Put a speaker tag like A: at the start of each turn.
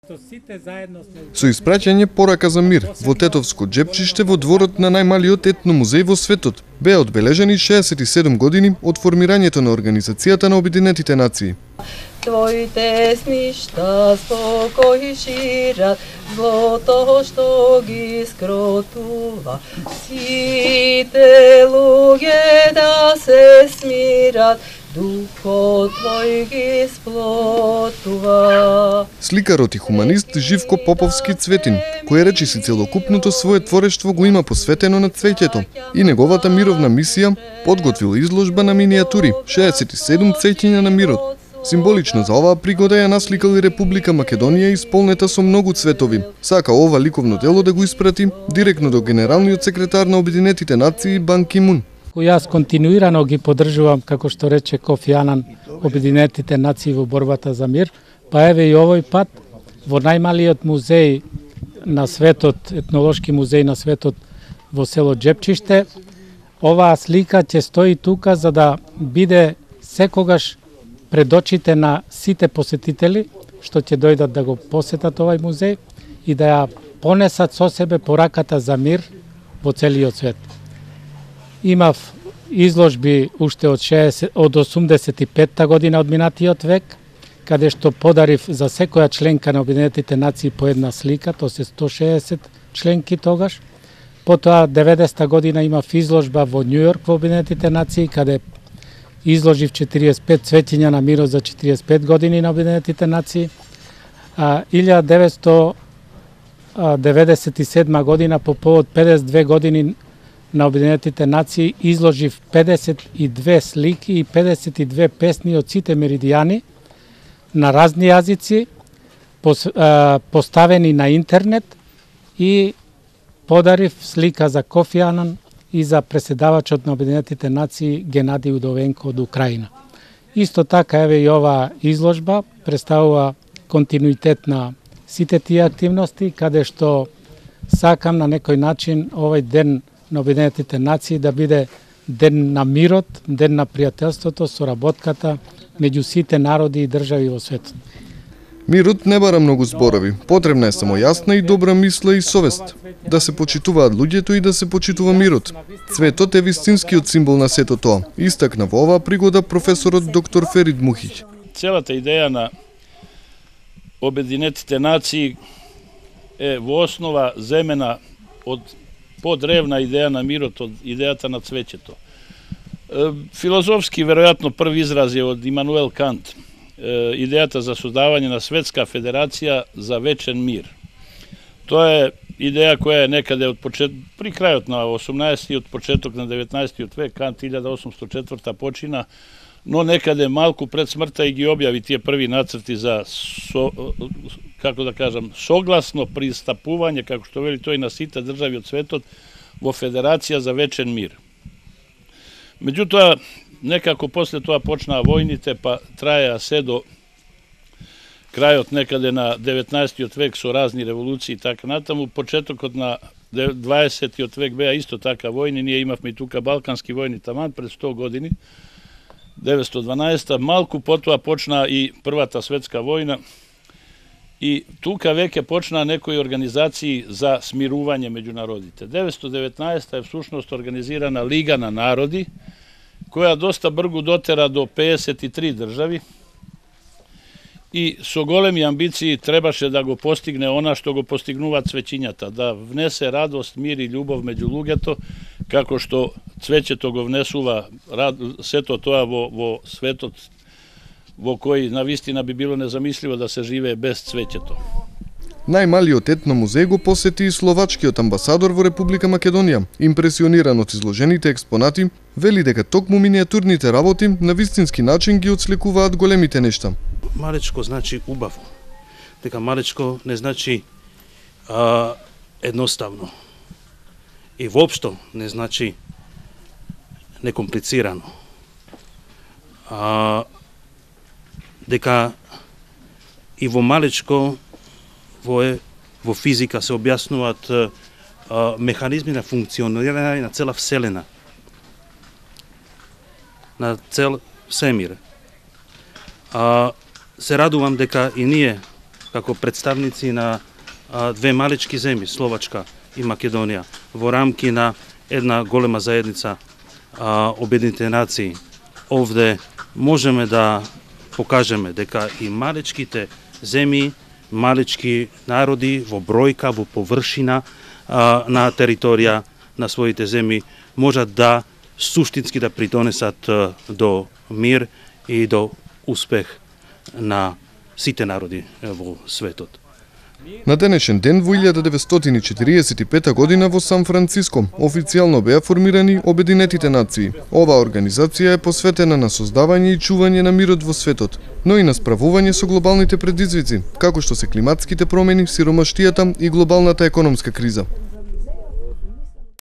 A: Со испраќање порака за мир во Тетовско џепчиште во дворот на најмалиот етно музеј во светот беа одбележени 67 години од формирањето на Организацијата на Обединетите нации.
B: Твоите смишта спокој шират, злото што ги скротува. Сите луѓе да се смират, духот твој ги сплотува.
A: Сликарот и хуманист Живко Поповски Цветин, кој речиси целокупното свое творештво го има посветено на цвеќето и неговата мировна мисија, подготвил изложба на минијатури, 67 цвеќиња на мирот. Символично за оваа пригода ја насликал и Република Македонија исполнета со многу цветови. Сака ова ликовно дело да го испрати директно до генералниот секретар на Обединетите нации Бан Ки Мун.
C: Јас континуирано ги поддржувам, како што рече Кофи Анан, Обединетите нации во борбата за мир, па еве и овој пат во најмалиот музеј на светот, етнолошки музеј на светот во село Џепчиште, оваа слика ќе стои тука за да биде секогаш пред очите на сите посетители што ќе дојдат да го посетат овај музеј и да ја понесат со себе пораката за мир во целиот свет. Имав изложби уште од 85-та година од минатиот век, каде што подарив за секоја членка на Обединетите нации по една слика, тоа се 160 членки тогаш. Потоа 90-та година имав изложба во Њујорк во Обединетите нации, каде изложив 45 цвеќиња на мирот за 45 години на Обединетите нации. 1997 година по повод 52 години на Обединетите нации изложив 52 слики и 52 песни од сите меридијани на разни јазици, поставени на интернет, и подарив слика за Кофи Анан и за преседавачот на Обединетите нации Генадиј Удовенко од Украина. Исто така еве и оваа изложба представува континуитет на сите тие активности, каде што сакам на некој начин овој ден на Обединетите нации да биде ден на мирот, ден на пријателството, соработката меѓу сите народи и држави во светот.
A: Мирот не бара многу зборови, потребна е само јасна и добра мисла и совест. Да се почитуваат луѓето и да се почитува мирот. Цветот е вистинскиот символ на сето тоа, истакна во оваа пригода професорот доктор Ферид Мухиќ.
D: Целата идеја на Обединетите нации е во основа земена од подревна идеја на мирот, од идејата на цвеќето. Филозофски, веројатно, први израз е од Имануел Кант, идејата за создавање на светска федерација за вечен мир. Тоа е идеја која е некаде при крајот на 18-тиот, почеток на 19-тиот век, Кант 1804 почина, но некаде малку пред смртта и ги објави тие први нацрти за, како да кажам, согласно пристапување, како што вели тој, на сите држави од светот во федерација за вечен мир. Меѓутоа, некако после тоа почнаа војните, па траеа се до крајот некаде на 19-тиот век со разни револуции и така натаму. Почетокот на 20-тиот век беа исто така војни, ние имавме и тука балкански војни таман пред 100 години, 912-та, малку потоа почна и Првата светска војна и тука веќе почнаа некои организации за смирување меѓу народите. 919-та е всушност организирана Лига на народи, која доста бргу дотера до 53 држави и со големи амбиции требаше да го постигне она што го постигнуваат цвеќињата, да внесе радост, мир и љубов меѓу луѓето, како што цвеќето го внесува сето тоа во светот во кој навистина би било незамисливо да се живее без цвеќето.
A: Најмалиот етно музеј го посети и словачкиот амбасадор во Република Македонија. Импресиониран од изложените експонати, вели дека токму минијатурните работи на вистински начин ги отслекуваат големите нешта.
E: Малечко значи убаво. Дека малечко не значи едноставно. И воопшто не значи некомплицирано. Дека и во малечко во физика се објаснуваат механизми на функционирање на цела вселена, на цел семир. Се радувам дека и ние, како представници на две малечки земји, Словачка и Македонија, во рамки на една голема заедница Обединетите нации. Овде можеме да покажеме дека и малечките земји, малечки народи во бројка, во површина на територија на своите земји можат да суштински да придонесат до мир и до успех на сите народи во светот.
A: На денешен ден во 1945 година во Сан Франциско официјално беа формирани Обединетите нации. Оваа организација е посветена на создавање и чување на мирот во светот, но и на справување со глобалните предизвици, како што се климатските промени, сиромаштијата и глобалната економска криза.